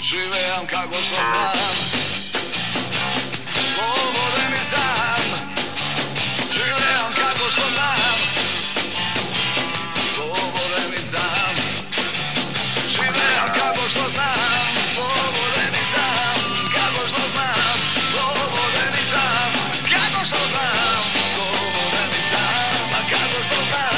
Живеам како што знам, слободен и сам. Живеам како што знам, слободен и сам. Живеам како што знам, слободен и сам. Како што знам, слободен и сам. Како што знам, слободен и сам. Како што знам.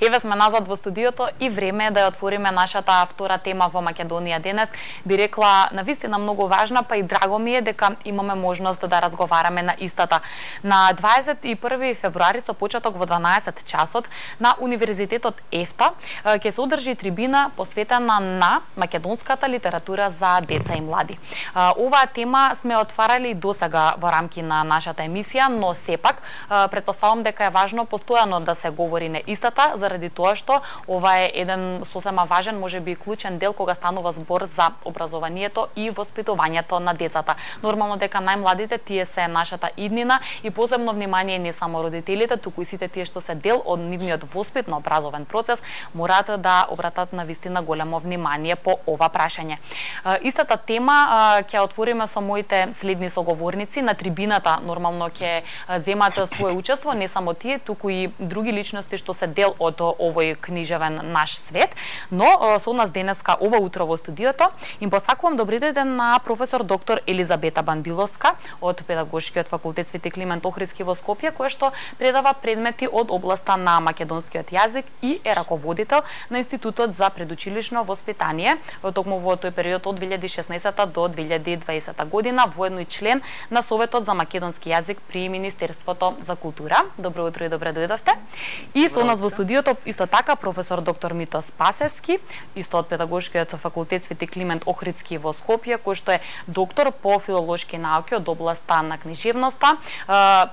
Еве сме назад во студиото и време е да ја отвориме нашата втора тема во Македонија денес. Би рекла навистина многу важна, па и драго ми е дека имаме можност да разговараме на истата. На 21 февруари со почеток во 12 часот на Универзитетот ЕФТА ќе се одржи трибина посветена на македонската литература за деца и млади. Оваа тема сме отварали досега во рамки на нашата емисија, но сепак претпоставувам дека е важно постојано да се говори на истата, заради тоа што ова е еден сосема важен, можеби и клучен дел кога станува збор за образованието и воспитувањето на децата. Нормално дека најмладите тие се нашата иднина и посебно внимание не само родителите, туку и сите тие што се дел од нивниот воспитно образовен процес мораат да обратат навистина големо внимание по ова прашање. Истата тема ќе отвориме со моите следни соговорници на трибината. Нормално ќе земат своје учество не само тие, туку и други личности што се дел од овој книжевен наш свет, но со нас денеска ова утро во студиото им посакувам добри дојден на професор доктор Елизабета Бандиловска од Педагошкиот факултет Свети Климент Охридски во Скопје, која што предава предмети од областа на македонскиот јазик и е раководител на Институтот за предучилишно воспитание токму во тој период од 2016 до 2020 година, воедно и член на Советот за македонски јазик при Министерството за култура. Добро утро и добре дојдовте. И со нас во студиото исто така професор доктор Мито Спасевски, исто од Педагошкиот факултет Свети Климент Охридски во Скопје, кој што е доктор по филолошки науки од областа на книжевноста,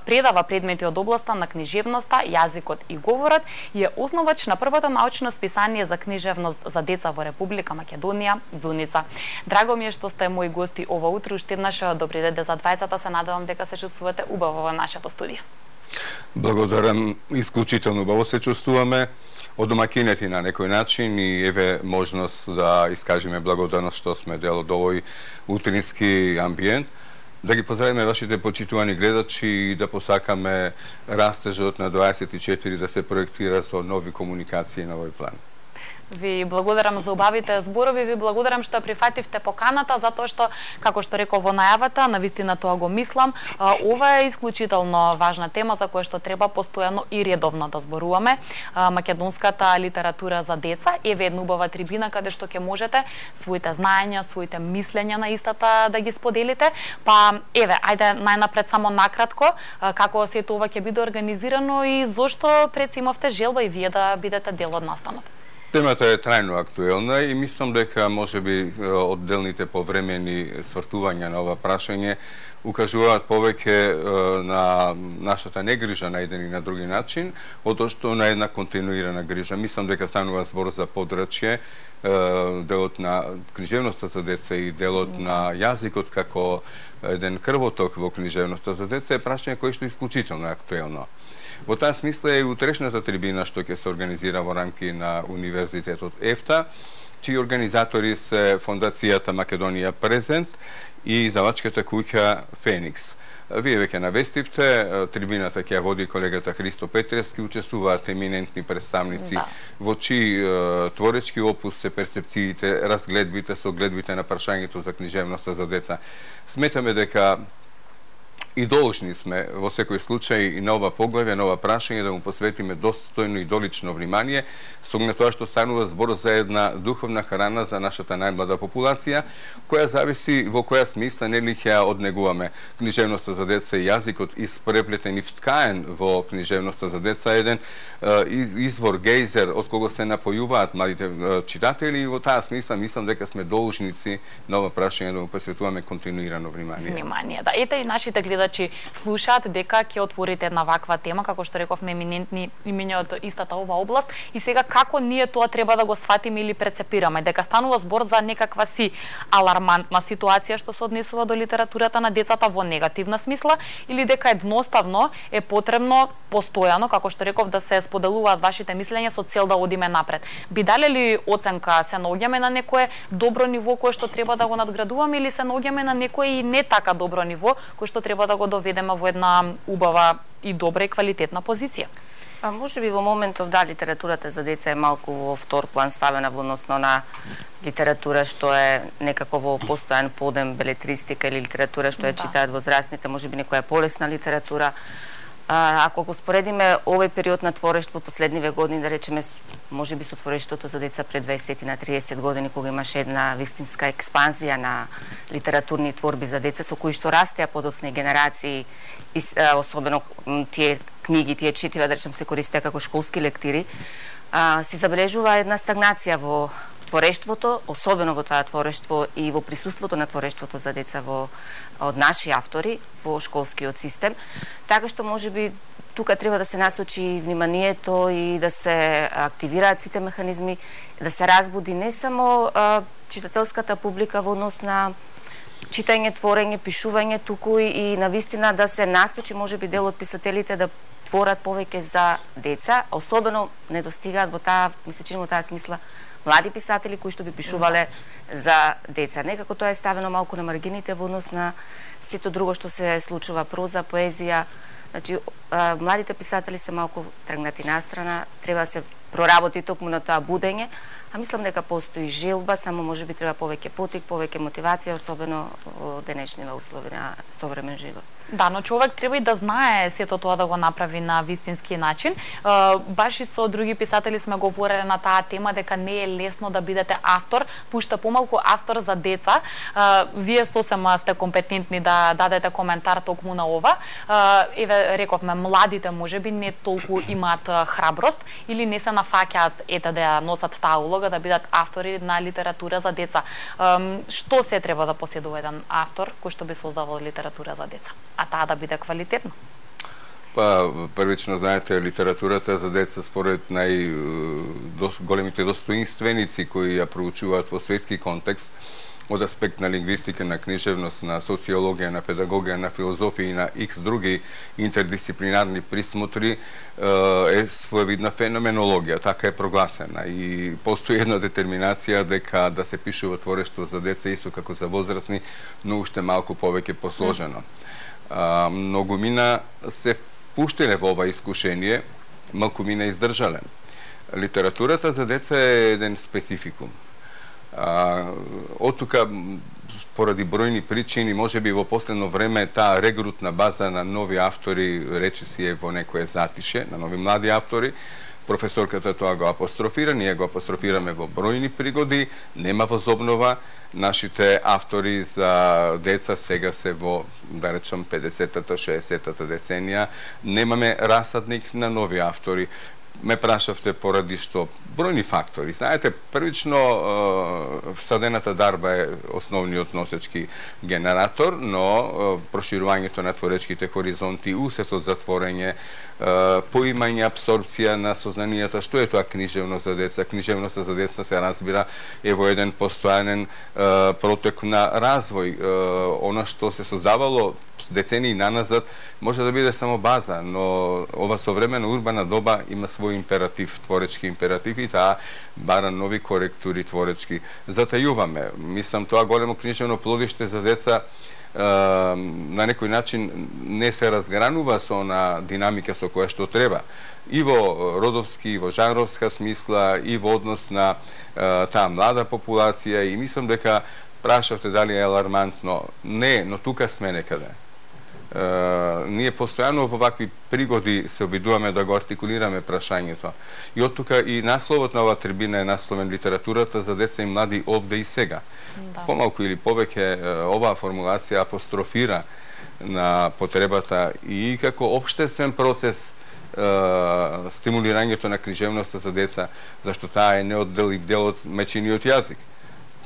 предава предмети од областа на книжевноста, јазикот и говорот и е основач на првото научно списание за книжевност за деца во Република Македонија, Дзуница. Драго ми е што сте мои гости ова утро, уште еднаш добри дојде за двајцата, се надевам дека се чувствувате убаво во нашето студио. Благодарам, исклучително убаво се чувствуваме, одомакинети на некој начин и еве можност да искажеме благодарност што сме дел од овој утрински амбиент. Да ги поздравиме вашите почитувани гледачи и да посакаме растежот на 24 да се проектира со нови комуникации на овој план. Ви благодарам за убавите зборови, ви благодарам што прифативте поканата, затоа што, како што реков во најавата, навистина тоа го мислам, ова е исклучително важна тема за која што треба постојано и редовно да зборуваме. Македонската литература за деца е една убава трибина каде што ќе можете своите знаења, своите мислења на истата да ги споделите. Па еве, ајде најнапред само накратко како сето ова ќе биде организирано и зошто имавте желба и вие да бидете дел од настанот. Темата е трајно актуелна и мислам дека можеби одделните повремени свртувања на ова прашање укажуваат повеќе на нашата негрижа на еден и на други начин, одошто на една континуирана грижа. Мислам дека станува збор за подрачје, делот на книжевноста за деца и делот на јазикот како еден крвоток во книжевноста за деца е прашање кој што е исклучително актуелно. Во таа смисла е и утрешната трибина што ќе се организира во рамки на Универзитетот ЕФТА, чии организатори се Фондацијата Македонија Презент и издавачката куќа Феникс. Вие веќе навестивте, трибината ќе ја води колегата Христо Петревски, учествуваат еминентни представници во чии творечки опус се перцепциите, разгледбите, согледбите на прашањето за книжевноста за деца. Сметаме дека и должни сме во секој случај и на ова поглавје, на ова прашање да му посветиме достојно и долично внимание, со оглед тоа што станува збор за една духовна храна за нашата најмлада популација, која зависи во која смисла нели ќе ја однегуваме. Книжевноста за деца и јазикот испреплетен и вткаен во книжевноста за деца еден извор гејзер од кого се напојуваат младите читатели и во таа смисла мислам дека сме должници на ова прашање да му посветуваме континуирано внимание. Да, ете и нашите гледачи слушаат дека ќе отворите една ваква тема, како што рековме, еминентни имиња од истата ова област, и сега како ние тоа треба да го сватиме или прецепираме, дека станува збор за некаква си алармантна ситуација што се однесува до литературата на децата во негативна смисла, или дека едноставно е потребно постојано, како што реков, да се споделуваат вашите мислења со цел да одиме напред. Би дали ли оценка, се наоѓаме на некое добро ниво кое што треба да го надградуваме, или се наоѓаме на некое и не така добро ниво кое што треба да го доведеме во една убава и добра и квалитетна позиција? Може би во моментов да, литературата за деца е малку во втор план ставена во односно на литература што е некако во постојан подем, белетристика или литература што ја читаат возрастните, може би некоја полесна литература. Ако го споредиме овој период на творештво последниве години, да речеме, може би со творештвото за деца пред 20 на 30 години, кога имаше една вистинска експанзија на литературни творби за деца, со кои што растеа подоцни генерации, особено тие книги, тие четива, да речем, се користеа како школски лектири, се забележува една стагнација во творештвото, особено во тоа творештво и во присуството на творештвото за деца од наши автори во школскиот систем, така што можеби тука треба да се насочи вниманието и да се активираат сите механизми, да се разбуди не само читателската публика во однос на читање, творење, пишување, туку и навистина да се насочи можеби дел од писателите да творат повеќе за деца, особено не достигаат во таа, ми се чини во таа смисла, млади писатели кои што би пишувале за деца. Некако тоа е ставено малку на маргините во однос на сето друго што се случува, проза, поезија. Значи, младите писатели се малку тргнати настрана, треба да се проработи токму на тоа будење, а мислам дека постои желба, само можеби треба повеќе потик, повеќе мотивација, особено во денешниве услови на современ живот. Да, но човек треба и да знае сето тоа да го направи на вистински начин. Баш и со други писатели сме говореле на таа тема дека не е лесно да бидете автор, пушта помалку автор за деца. Вие сосема сте компетентни да дадете коментар токму на ова. Еве, рековме, младите можеби не толку имаат храброст или не се нафаќаат ете да носат таа улога да бидат автори на литература за деца. Што се треба да поседува еден автор кој што би создавал литература за деца? А таа да биде квалитетна? Првично, знаете, литературата за деца според големите достоинственици кои ја проучуваат во светски контекст од аспект на лингвистика, на книжевност, на социологија, на педагогија, на филозофија и на X други интердисциплинарни присмотри е своевидна феноменологија, така е прогласена и постои една детерминација дека да се пишува творештво за деца исто како за возрастни, но уште малку повеќе посложено. Многумина се впуштиле во ова искушение, малкумина издржале. Литературата за деца е еден спецификум. Од тука, поради бројни причини, може би во последно време таа регрутна база на нови автори речиси е во некое затише, на нови млади автори. Професорката тоа го апострофира, ние го апострофираме во бројни пригоди, нема возобнова. Нашите автори за деца сега се во, да речем, 50-та, 60-та деценија. Немаме расадник на нови автори. Ме прашавте поради што бројни фактори. Знаете, првично всадената дарба е основниот носечки генератор, но проширувањето на творечките хоризонти, усетот за творење, поимање, абсорбција на сознанијата, што е тоа книжевност за деца. Книжевноста за деца се разбира е во еден постојанен протек на развој. Она што се создавало децении наназад може да биде само база, но ова современа урбана доба има свој императив, творечки императив и таа бара нови коректури творечки. Затајуваме. Мислам, тоа големо книжевно плодиште за деца на некој начин не се разгранува со она динамика со која што треба. И во родовски, и во жанровска смисла, и во однос на таа млада популација и мислам дека прашавте дали е алармантно. Не, но тука сме некаде. Ние постојано во вакви пригоди се обидуваме да го артикулираме прашањето. И од тука и насловот на оваа трибина е насловен литературата за деца и млади овде и сега. Да. Помалку или повеќе оваа формулација апострофира на потребата и како општествен процес стимулирањето на книжевноста за деца, зашто таа е неодделив дел од мечениот јазик.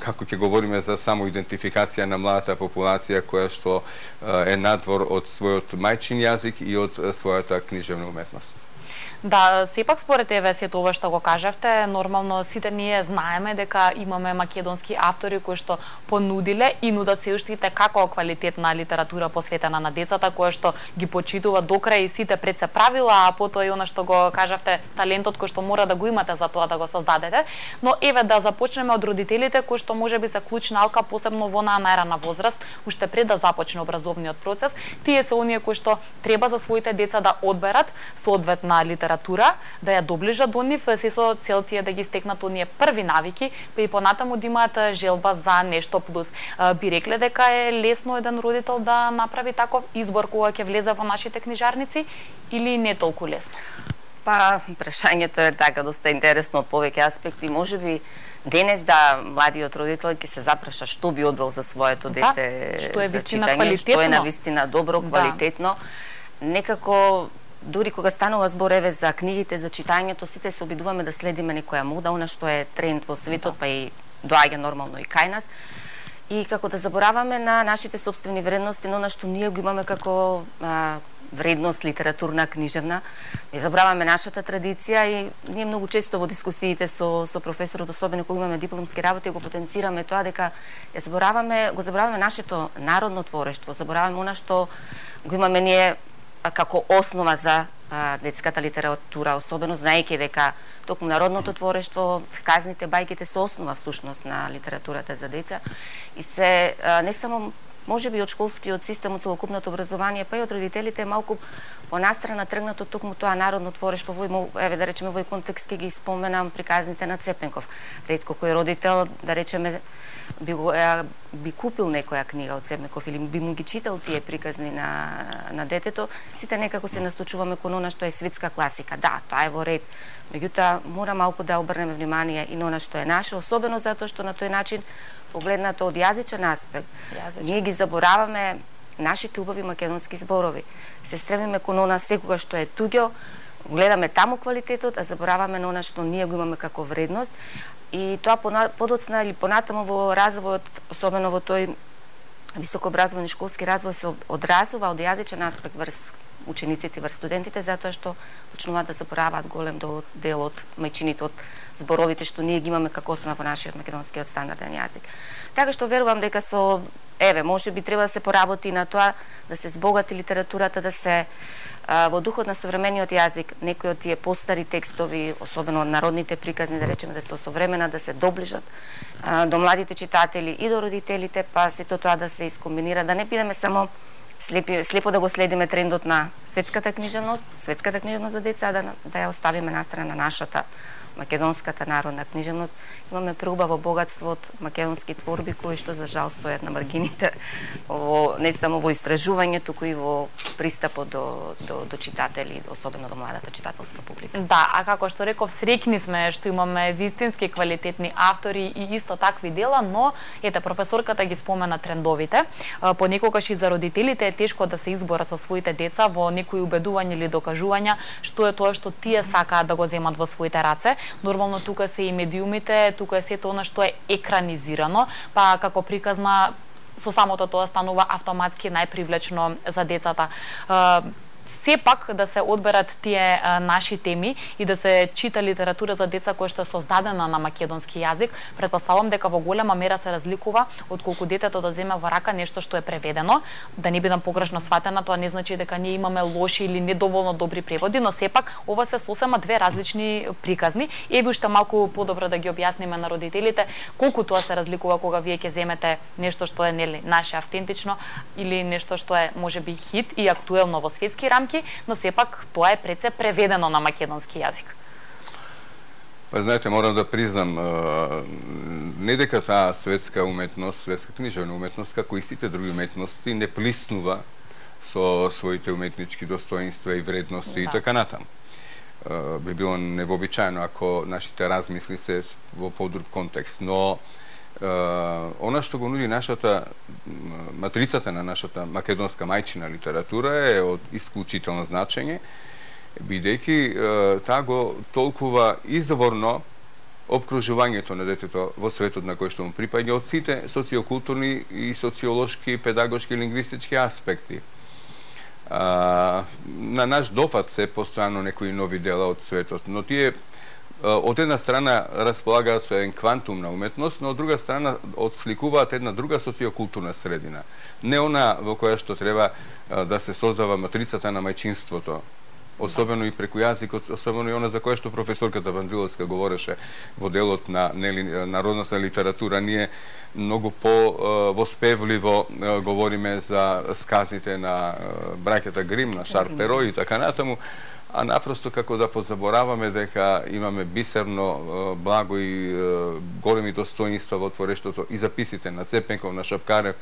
Како ќе говориме за самоидентификација на младата популација која што е надвор од својот мајчин јазик и од својата книжевна уметност. Да, сепак според еве сето ова што го кажавте, нормално сите ние знаеме дека имаме македонски автори кои што понудиле и нудат се уште како квалитетна литература посветена на децата, која што ги почитува до крај сите пред се правила, а потоа и она што го кажавте, талентот кој што мора да го имате за тоа да го создадете. Но еве да започнеме од родителите кои што можеби се клучна алка посебно во најрана возраст, уште пред да започне образовниот процес. Тие се оние кои што треба за своите деца да одберат соодветна литература, да ја доближат до нив, се со цел тие да ги стекнат оние први навики, па и понатаму да имаат желба за нешто плюс. Би рекле дека е лесно еден родител да направи таков избор кога ќе влезе во нашите книжарници или не толку лесно? Па, прашањето е така доста интересно од повеќе аспекти. Можеби денес да младиот родител ќе се запраша што би одбрал за своето дете, што е за вистина читање, квалитетно, што е навистина добро, квалитетно. Некако дури кога станува збор еве за книгите, за читањето, сите се обидуваме да следиме некоја мода, она што е тренд во светот, па и доаѓа нормално и кај нас. И како да забораваме на нашите собствени вредности, на она што ние го имаме како вредност литературна, книжевна. Не забраваме нашата традиција и ние многу често во дискусиите со професорот, особено кога имаме дипломски работи, го потенцираме тоа дека го забраваме нашето народно творештво, забораваме она што го имаме ние како основа за детската литература, особено знаејќи дека токму народното творештво, сказните, бајките се основа всушност на литературата за деца и се не само можеби од школскиот систем, од целокупното образование, па и од родителите малку понастрана тргнато токму тоа народно творештво. Еве да речеме во контекст ќе ги споменам приказните на Цепенков. Ретко кој родител, да речеме, би купил некоја книга од Цепенков или би му ги читал тие приказни на детето. Сите некако се насточуваме кон она што е светска класика. Да, тоа е во ред. Меѓутоа, мора малку да обрнеме внимание и на она што е наше, особено затоа што на тој начин, погледнато од јазичен аспект, ние ги забораваме нашите убави македонски зборови. Се стремиме кон она секогаш што е туѓо, гледаме таму квалитетот, а забораваме на она што ние го имаме како вредност. И тоа подоцна или понатаму во развојот, особено во тој високообразовани школски развој, се одразува од јазичен аспект врз учениците, врз студентите, затоа што почнуваат да забораваат голем дел од мајчините, од зборовите што ние ги имаме како основа во нашиот македонскиот стандарден јазик. Така што верувам дека може би треба да се поработи на тоа, да се збогати литературата, да се во духот на современиот јазик, некои од тие постари текстови, особено од народните приказни, да речеме, да се осовремена, да се доближат до младите читатели и до родителите, па сето тоа да се искомбинира, да не бидеме само слепо да го следиме трендот на светската книжевност за деца, да ја оставиме настрана на нашата македонската народна книжевност. Имаме преубаво богатство од македонски творби кои што за жал стојат на маргините, не само во истражување, туку и во пристапот до читатели, особено до младата читателска публика. Да, а како што реков, среќни сме што имаме вистински квалитетни автори и исто такви дела, но ете професорката ги спомена трендовите. Понекогаш и за родителите е тешко да се изборат со своите деца во некои убедувања или докажувања што е тоа што тие сакаат да го земат во своите раце. Нормално тука се и медиумите, тука е сето она што е екранизирано, па како приказна со самото тоа станува автоматски најпривлечно за децата. Сепак да се одберат тие наши теми и да се чита литература за деца која што е создадена на македонски јазик, претпоставувам дека во голема мера се разликува од колку детето да земе во рака нешто што е преведено. Да не бидам погрешно сватена, тоа не значи дека ние имаме лоши или недоволно добри преводи, но сепак ова се сосема две различни приказни. Еви уште малку подобро да ги објасниме на родителите колку тоа се разликува кога вие ќе земете нешто што е нели наше автентично или нешто што е можеби хит и актуелно во светски рамки, но сепак тоа е пред се преведено на македонски јазик. Па знаете, морам да признам, не дека таа светска уметност, светска книжевна уметност, како и сите други уметности, не плиснува со своите уметнички достоинства и вредности и така натаму. Би било невообичаено ако нашите размисли се во подруг контекст, но она што го нуди матрицата на нашата македонска мајчина литература е од исклучително значење, бидејќи таа го толкува изворно обкружувањето на детето во светот на кој што му припаѓа од сите социокултурни и социолошки, педагошки, лингвистички аспекти. На наш дофат се постојано некои нови дела од светот, но тие од една страна располагаат со еден квантум на уметност, но од друга страна отсликуваат една друга социокултурна средина. Не она во која што треба да се создава матрицата на мајчинството, особено и преку јазикот, особено и она за која што професорката Бандиловска говореше во делот на народната литература. Ние многу по-воспевливо говориме за сказните на браќата Грим, на Шарл Перо и така натаму, а напросто како да позабораваме дека имаме бисерно, благо и големи достоинства во творештото и записите на Цепенков, на Шапкарев,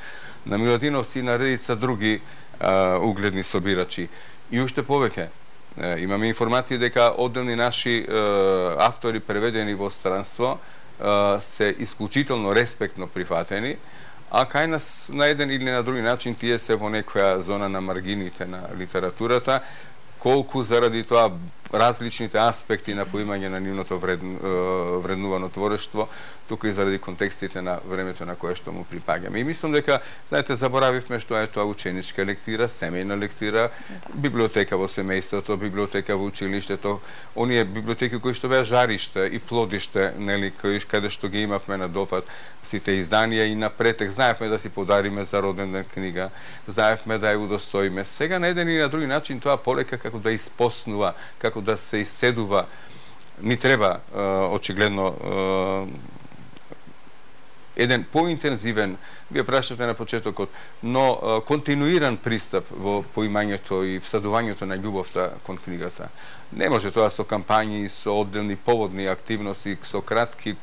на Миладиновци и на редица други угледни собирачи. И уште повеќе, имаме информации дека одделни наши автори преведени во странство се исклучително респектно прифатени, а кај нас на еден или на други начин тие се во некоја зона на маргините на литературата, колку заради тоа различните аспекти на поимање на нивното вреднувано творештво, тука и заради контекстите на времето на кое што му припаѓаме. И мислам дека, знаете, заборавивме што е тоа ученичка лектира, семејна лектира, библиотека во семејството, библиотека во училиштето, оние библиотеки кои што беа жариште и плодиште, нели, каде што ги имавме на дофат сите изданија и на претек, знаевме да си подариме за роден ден книга, знаевме да ја удостоиме. Сега на еден и на други начин тоа полека како да испоснува, како да се исцедува, ни треба очигледно еден поинтензивен, вие прашате на почетокот, но континуиран пристап во поимањето и всадувањето на љубовта кон книгата. Не може тоа со кампањи, со одделни поводни активности, со кратки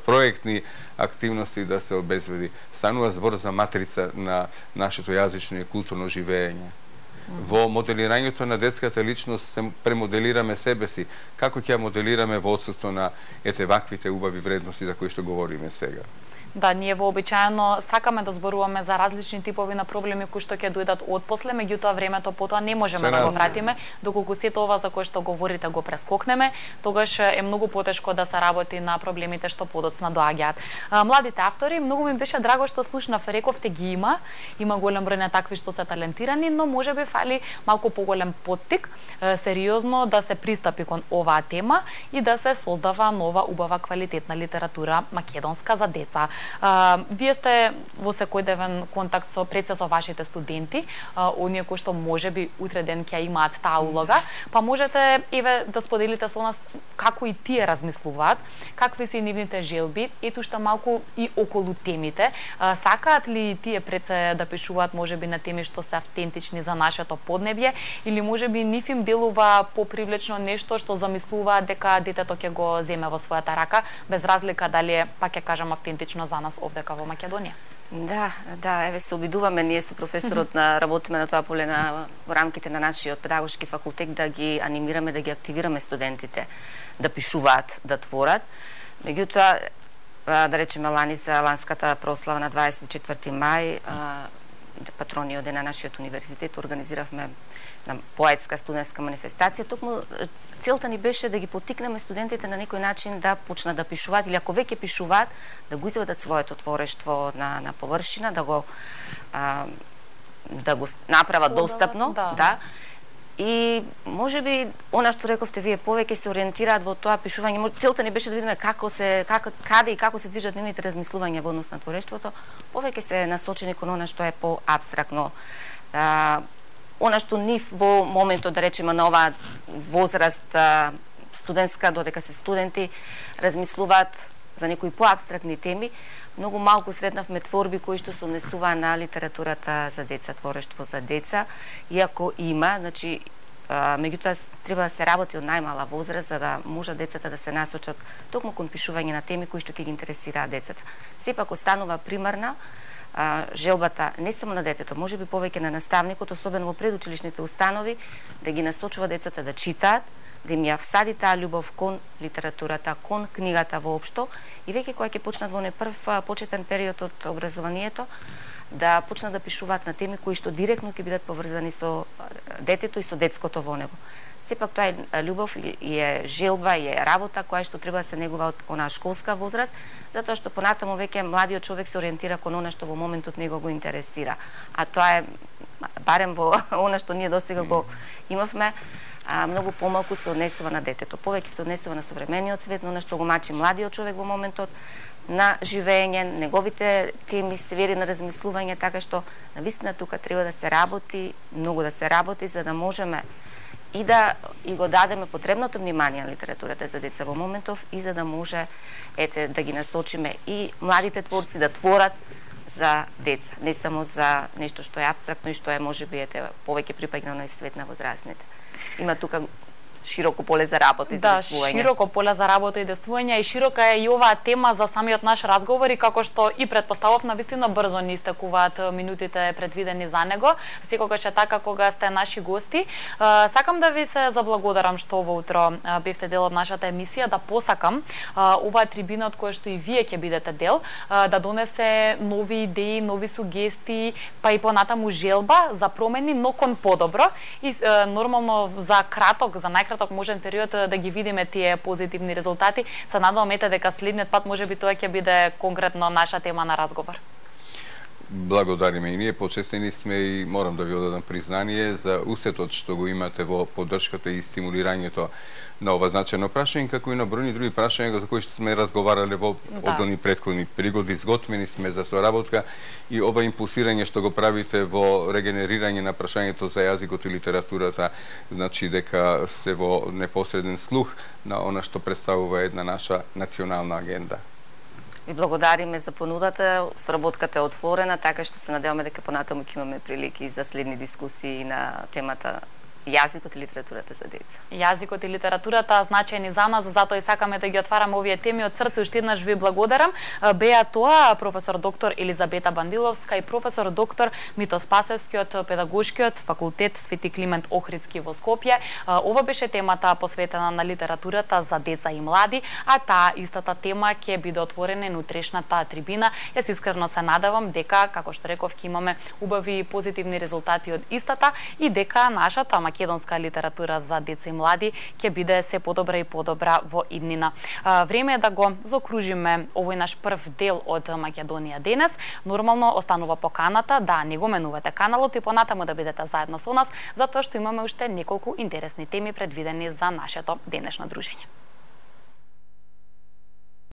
проектни активности да се обезбеди. Станува збор за матрица на нашето јазично и културно живење. Во моделирањето на детската личност се премоделираме себе си. Како ќе ја моделираме во отсуство на ваквите убави вредности за кои што говориме сега? Да, ние вообичаено сакаме да зборуваме за различни типови на проблеми кои што ќе дојдат отпосле, меѓутоа времето потоа не можеме да го вратиме, доколку сето ова за кое што говорите го прескокнеме, тогаш е многу потешко да се работи на проблемите што подоцна доаѓаат. Младите автори, многу ми беше драго што слушнав, рековте ги има голем број на такви што се талентирани, но можеби фали малку поголем поттик, сериозно да се пристапи кон оваа тема и да се создава нова убава квалитетна литература македонска за деца. Вие сте во секојдневен контакт со со вашите студенти, оние кои што можеби утре ден ќе имаат таа улога, па можете еве да споделите со нас како и тие размислуваат, какви се нивните желби, ето што малку и околу темите. Сакаат ли тие пред се да пишуваат можеби на теми што се автентични за нашето поднебје, или можеби нив им делува попривлечно нешто што замислуваат дека детето ќе го земе во својата рака, без разлика дали е, па ќе кажам, автентично за нас овдека во Македонија? Да, еве се обидуваме ние со професорот на работиме на тоа поле во рамките на нашиот педагошки факултет да ги анимираме, да ги активираме студентите да пишуваат, да творат. Меѓутоа, да речеме лани за ланската прослава на 24 мај, патрониот ден на нашиот универзитет, организиравме на поетска студентска манифестација. Токму целта ни беше да ги поттикнеме студентите на некој начин да почнат да пишуваат, или ако веќе пишуваат, да го изведат своето творештво на површина, да го направат достапно, да. И можеби она што рековте вие, повеќе се ориентираат во тоа пишување. Целта ни беше да видиме каде и како се движат нивните размислувања во однос на творештвото. Повеќе се насочени кон она што е поабстрактно. Она што нив во моментот, да речеме, на оваа возраст студентска, додека се студенти, размислуваат за некои поабстрактни теми. Многу малку сретнавме творби кои што се однесуваа на литературата за деца, творештво за деца, иако има, значи, меѓутоа треба да се работи од најмала возраст за да можат децата да се насочат токму кон пишување на теми кои што ќе ги интересираат децата. Сепак останува примарна желбата не само на детето, можеби повеќе на наставникот, особено во предучилишните установи, да ги насочува децата да читаат, да им ја всади таа љубов кон литературата, кон книгата воопшто, и веќе кога ќе почнат во прв почетен период од образованието, да почнат да пишуваат на теми кои што директно ќе бидат поврзани со детето и со детското во него. Сепак тоа е љубов и е желба и е работа која што треба да се негува од онаа школска возраст, затоа што понатаму веќе младиот човек се ориентира кон она што во моментот него го интересира. А тоа е, барем во она што ние досега го имавме, многу помалку се однесува на детето. Повеќе се однесува на современиот свет, на она што го мачи младиот човек во моментот на живење, неговите теми, сфери на размислување, така што навистина тука треба да се работи, многу да се работи, за да можеме и да го дадеме потребното внимание на литературата за деца во моментов, и за да може да ги насочиме и младите творци да творат за деца, не само за нешто што е апстрактно и што е можеби повеќе припаѓано на свет на возрастните. Има тука широко поле за работа и за действување. Да, широко поле за работа и действување, и широка е и оваа тема за самиот наш разговор, и како што и предпоставав, навистина брзо ни истекуваат минутите предвидени за него. Секогаш е така кога сте наши гости. Сакам да ви се заблагодарам што во утро бевте дел од нашата емисија, да посакам оваа трибина од која што и вие ќе бидете дел, да донесе нови идеи, нови сугестии, па и понатаму желба за промени, но кон подобро, и нормално за најкраток можен период да ги видиме тие позитивни резултати. Се надевам дека следниот пат можеби тоа ќе биде конкретно наша тема на разговор. Благодариме и ние, почестени сме и морам да ви одадам признание за усетот што го имате во поддршката и стимулирањето на ова значајно прашање, како и на бројни други прашања за кои што сме разговарале во одни претходни пригоди. Изготвени сме за соработка и ова импулсирање што го правите во регенерирање на прашањето за јазикот и литературата, значи дека сте во непосреден слух на она што представува една наша национална агенда. Ви благодариме за понудата, соработката е отворена, така што се надеваме дека понатаму ќе имаме прилики за следни дискусии на темата јазикот и литературата за деца. Јазикот и литературата значајни за нас, затоа и сакаме да ги отвараме овие теми од срце. Уште еднаш ви благодарам. Беа тоа професор доктор Елизабета Бандиловска и професор доктор Мито Спасевски од Педагошкиот факултет Свети Климент Охридски во Скопје. Ова беше темата посветена на литературата за деца и млади, а таа истата тема ќе биде отворена на утрешната трибина. Јас искрено се надевам дека, како што реков, ќе имаме убави и позитивни резултати од истата и дека нашата македонска литература за деца и млади ќе биде се подобра и подобра во иднина. Време е да го заокружиме овој наш прв дел од Македонија денес. Нормално останува поканата да не го менувате каналот и понатаму да бидете заедно со нас, затоа што имаме уште неколку интересни теми предвидени за нашето денешно дружење.